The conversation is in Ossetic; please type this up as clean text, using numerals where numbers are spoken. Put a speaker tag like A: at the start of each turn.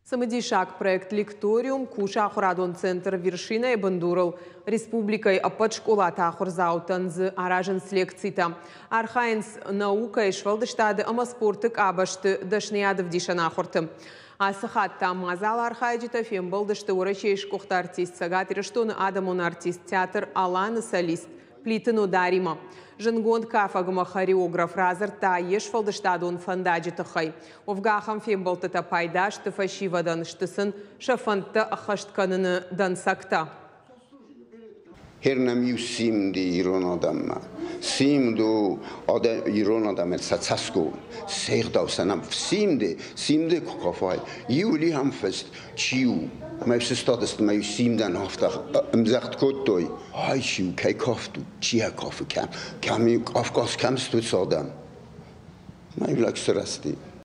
A: Цымыдисаг проект «Лекториум» кусы ахуырадон центр «Вершина»-йы бындурыл. Республикӕйы ӕппӕт скъолаты ахуырдзаутӕн дзы аразынц лекцитӕ. Архайынц наукӕйы, сфӕлдыстады ӕмӕ спорты къабӕзты дӕсныйад ӕвдисӕн ахуырты. Ацы хатт та мадзалы архайджытӕ фембӕлдысты Уӕрӕсейы сгуыхт артист, Цӕгат Ирыстоны адӕмон артист, театр «Алан»-ы солист Плиты Нодаримӕ. Зындгонд кафӕг ӕмӕ хореограф радзырдта йе сфӕлдыстадон фӕндаджы тыххӕй. Уӕвгӕ ахӕм фембӕлдтытӕ пайда сты фӕсивӕдӕн, сты сын сӕ фӕндтӕ ӕххӕст кӕныны дӕнцӕгтӕ.
B: Гьер нӕм иу симди ирон адӕммӕ. Симд у ирон адӕмӕн сӕ цӕсгом, се гъдау сӕ нӕм. Симди, симди куы кафай, иу лихӕм фыст, чи у? Мӕ сыстадысты, мӕ симдӕн афтӕ ӕмдзӕгъд кодтой. Ай чи у, кӕй кафт у, чи йӕ кафы, кӕм, кӕм Кавказ, кӕм сты уыцы адӕм? Мӕ лӕг сырӕзти.